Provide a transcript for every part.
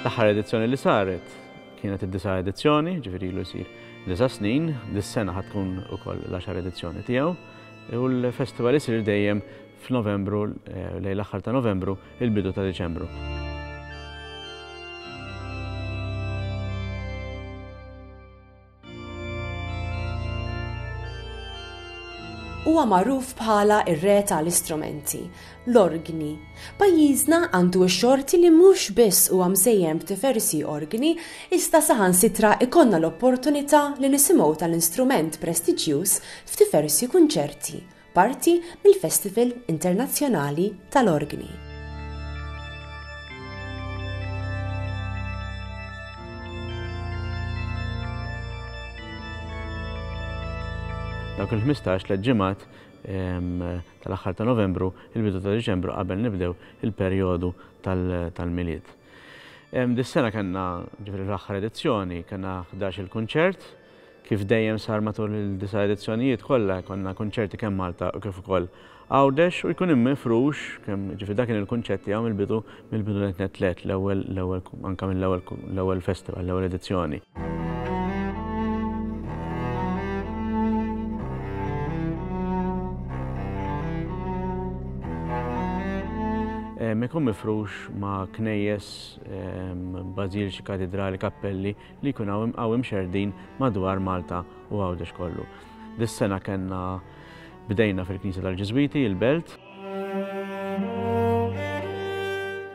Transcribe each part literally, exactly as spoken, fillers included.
L-aħħar edizzjoni li saret kienet id-disa' edizzjoni, ġifieri ilu jsir disa' snin, dis-sena ħa tkun ukoll l-għaxar edizzjoni tiegħu. U l-festival isir dejjem f'Novembru, lejn l-aħħar ta' Novembru, il-bidu ta' Diċembru. Huwa magħruf bħala ir-re tal-istrumenti, l-orgni. Pajjiżna għandu x-xorti li mhux biss huwa mżejjen b'diversi orgni, iżda saħansitra ikollna l-opportunità li nisimgħu tal-instrument prestiġjuż f'diversi kunċerti, parti mill-Festival Internazzjonali tal-Orgni. Dawk il-ħmistax tliet ġimgħat tal-aħħar ta' Novembru, il-bidu ta' Diċembru qabel nibdew il-perjodu tal-Milied. Dis-sena kellna, ġifieri l-aħħar edizzjoni, kellna ħdax il-kunċert, kif dejjem sar matul il-disa' edizzjonijiet kollha konna kunċerti kemm Malta u kif ukoll Għawdex u jkun immifrux, kemm ġifieri dak kien il-kunċett tiegħu mill-bidu mill-bidu net tliet l-ewwel l-ewwel anke mill-ewwel l-ewwel festival, l-ewwel edizzjoni. Ikun mifrux ma' knejjes, bażiliċi, katedrali, kappelli li jkun hawn imxerdin madwar Malta u Għawdex kollu. Dis-sena kellna bdejna fil-Knisja tal-Ġiżwiti, il-Belt.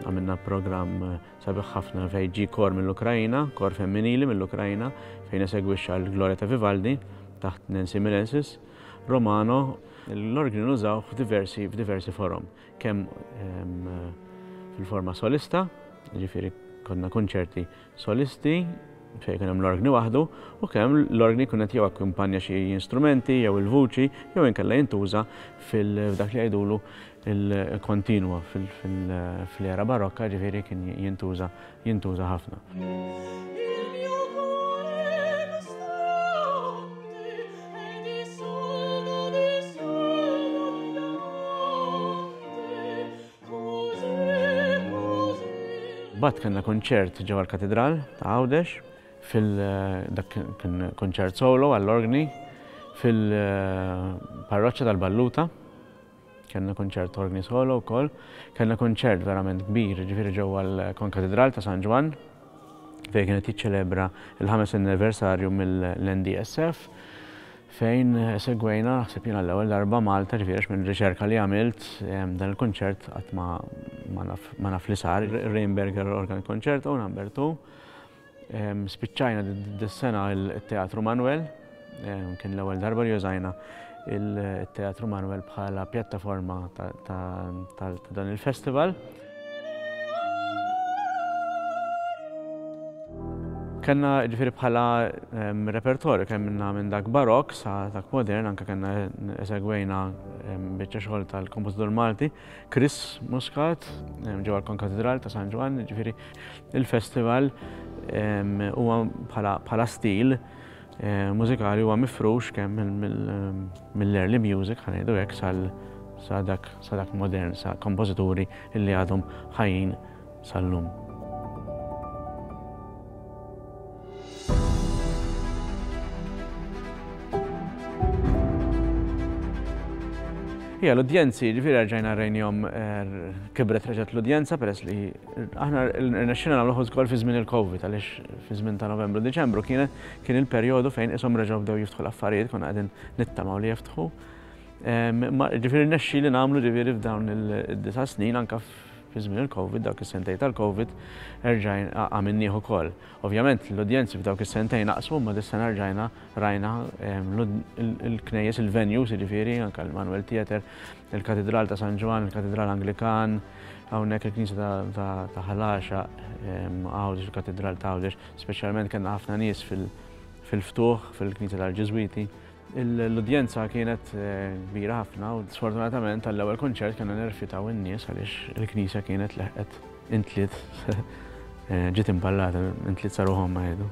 Għamilna programm sabiħ ħafna fejn ġie kor mill-Ukrajna, kor femminili mill-Ukrajna, fejn esegwixxa l-Gloria ta' Vivaldi taħt Nancy Milensis, Romano. L-orgni nużaw f'diversi, f'diversi forom, kemm fil-forma solista, ġifieri konna kunċerti solisti fejn kien hemm l-orgni waħdu, u kemm l-orgni jkun qed jew akkumpanja xi instrumenti jew il-vuċi jew inkella jintuża fil-dak li jgħidulu il-kontinwa fil-era barokka, ġifieri kien jintuża jintuża ħafna. Bat kellna kunċert ġewwa l-Katedral ta' Għawdex, fil-dak kien kunċert solo għall-orgni, fil-parroċċa tal-Balluta, kellna kunċert orgni solo wkoll, kellna kunċert verament kbir, ġifieri ġewwa l-Konkatedral ta' San Ġwann, fejn kienet jiċċelebra l-ħames anniversarju mill-N D S F, fejn segwejna, naħseb jiena l-ewwel darba Malta, ġifieri għax minn riċerka li għamilt, dan il-kunċert qatt ma naf li sar, Rheinberger Organ Concerto number two. Spiċċajna dis-sena il-Teatru Manuel, kien l-ewwel darba li użajna il-Teatru Manuel bħala pjattaforma ta' dan il-festival. Kellna ġifieri bħala repertorju kemm minna minn dak barok sa dak modern, anke kellna esegwejna biċċa xogħol tal-kompożitur Malti Chris Muscat ġewwa l-Konkatedral ta' San Ġwann, ġifieri il-festival huwa bħala stil mużikali huwa mifrux kemm mill-early music, ħa ngħidu hekk, sa dak, sa dak modern, sa kompożituri li għadhom ħajjin sal-lum. Ija, l-udjenzi, ġifieri rġajna rejnihom, kibret reġgħet l-udjenza peress li aħna rnexxina nagħmluh ukoll fi żmien il-Covid, għaliex fi żmien ta' Novembru Diċembru kien, kien il-perjodu fejn ishom reġgħu bdew jiftħu l-affarijiet, konna qegħdin nittamaw li jiftħu. Ma ġifieri rnexxi li nagħmlu ġifieri f'dawn id-disa' snin anke fi żmien il-Covid, dawk is-sentejn tal-Covid, erġajna għamilnieh ukoll. Ovvjament l-udjenzi f'dawk is-sentejn naqsu, imma dis-sena rġajna rajna il-knejjes, il-venues, jiġifieri anke l-Manuel Theatre, il-Katedral ta' San Ġwann, il-Katedral Anglikan, hawnhekk il-Knisja ta' Ħal Għaxaq, Għawdex, il-Katedral ta' Għawdex, speċjalment kellna ħafna nies fil-ftuħ, fil-Knisja tal-Ġiżwiti. L-udjenza kienet kbira ħafna u sfortunatament għall-ewwel kunċert kellna nirrifjutaw in-nies għaliex il-knisja kienet leħqet intliet, ġiet imballata, intliet saruhom ma jgħidu.